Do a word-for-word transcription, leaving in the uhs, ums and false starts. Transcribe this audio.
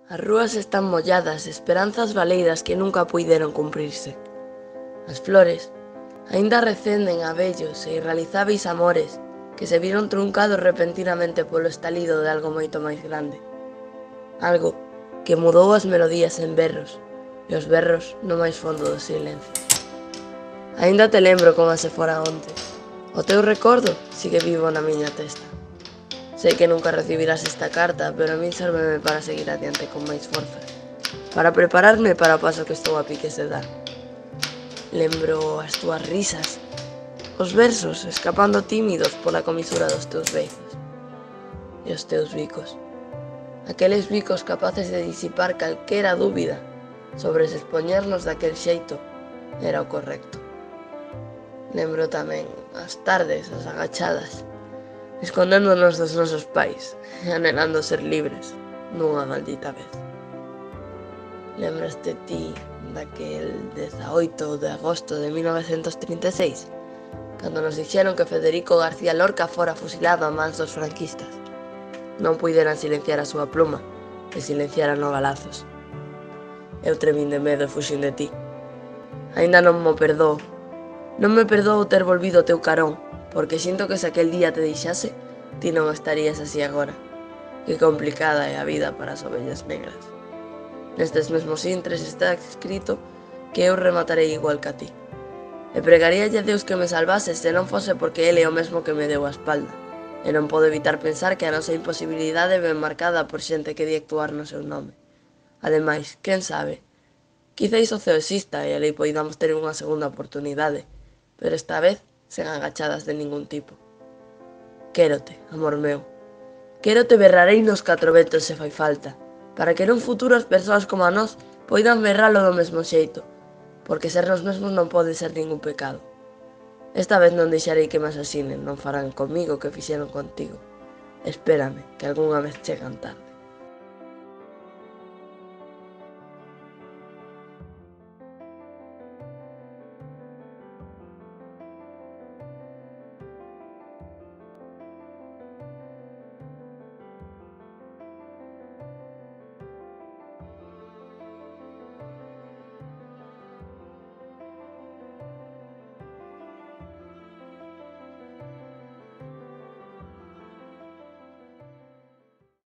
As rúas están molladas, esperanzas baleiras que nunca puideron cumprirse. As flores aínda recenden a vellos e irrealizáveis amores que se viron truncados repentinamente polo estalido de algo moito máis grande. Algo que mudou as melodías en berros e os berros no máis fondo do silencio. Aínda te lembro como se fora onte. O teu recordo sigue vivo na miña testa. Sei que nunca recibirás esta carta, pero a min sérveme para seguir adiante con máis forza, para prepararme para o paso que estou a piques de dar. Lembro as túas risas, os versos escapando tímidos pola comisura dos teus beizos, e os teus bicos, aqueles bicos capaces de disipar calquera dúbida sobre se expoñernos daquel xeito era o correcto. Lembro tamén as tardes, as agachadas, escondéndonos dos nosos pais e anhelando ser libres nunha maldita vez. Lembraste ti daquel dezaoito de agosto de mil novecentos trinta e seis, cando nos dixeron que Federico García Lorca fora fusilado a mans dos franquistas? Non puideran silenciar a súa pluma e silenciaran o balazos. Eu tremín de medo e fuxín de ti. Aínda non mo perdoo. Non me perdoo ter volvido o teu carón, porque sinto que se aquel día te deixase, ti non estarías así agora. Que complicada é a vida para as ovellas negras. Nestes mesmos intres está escrito que eu rematarei igual que a ti. E pregaríalle a Deus que me salvase se non fose porque ele é o mesmo que me deu a espalda. E non podo evitar pensar que a nosa imposibilidade ven marcada por xente que di actuar no seu nome. Ademais, quen sabe? Quizáis o ceo exista e alí poidamos ter unha segunda oportunidade, pero esta vez sen agachadas de ningún tipo. Quérote, amor meu. Quérote berrarei nos catro ventos se fai falta, para que nun futuro as persoas como a nós poidan berralo do mesmo xeito, porque ser nos mesmos non pode ser ningún pecado. Esta vez non deixarei que me asasinen, non farán comigo o que fixeron contigo. Espérame, que algunha vez chegan tarde.